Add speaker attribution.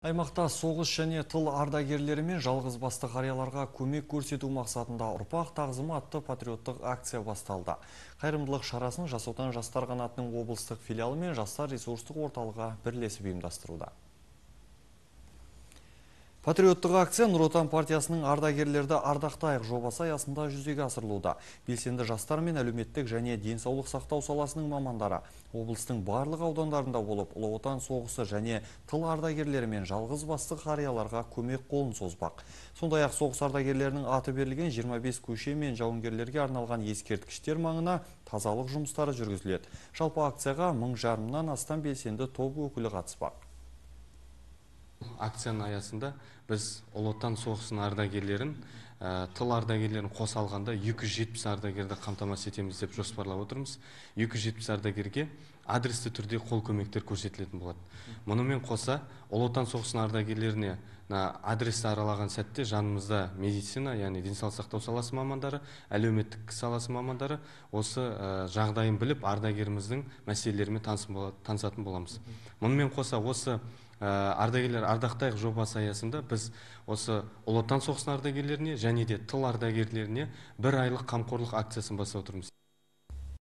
Speaker 1: Аймақта соғыс және тыл ардагерлері мен жалғыз басты қарияларға көмек көрсету мақсатында ұрпақ тағзымы атты патриоттық акция басталды. Қайырымдылық шарасын Жас отан жастар қанатының облыстық филиалы мен жастар ресурстық орталығы бірлесіп ұйымдастыруда. Патриоттық акция Нұр Отан партиясының ардагерлерді ардақтайық жобасы аясында жүзеге асырылуда. Белсенді жастар мен әлеуметтік және денсаулық сақтау саласының мамандары облыстың барлық аудандарында болып, Ұлы Отан соғысы және тыл ардагерлері мен жалғыз басты қарияларға көмек қолын созбақ. Сондай-ақ соғыс ардагерлерінің аты берілген 25 көше мен жауынгерлерге арналған ескерткіштер маңына тазалық жұмыстары жүргізіледі. Жалпы акцияға 1500-нан астам белсенді топ өкілі қатыспақ.
Speaker 2: Акцияның аясында біз Ұлы Отан соғысының ардагерлерін, тыл ардагерлерін қоса алғанда 270 ардагерді қамтамасыз етеміз деп жоспарлап отырмыз. 270 ардагерге адресті түрде қол көмектер көрсетілетін болады. Мұнымен қоса Ұлы Отан соғысының ардагерлеріне адресті аралаған сәтте жанымызда медицина, яғни денсаулық сақтау саласы мамандары, әлеуметтік саласы мамандары осы жағдайын біліп ардагеріміздің мәселелерімен танысатын боламыз. Мұнымен қоса осы ардагерлер ардақтайық жобасы аясында біз осы Ұлы Отан соғысының ардагерлеріне және де тыл ардагерлеріне 1 айлық қамқорлық акциясын бастап отырмыз.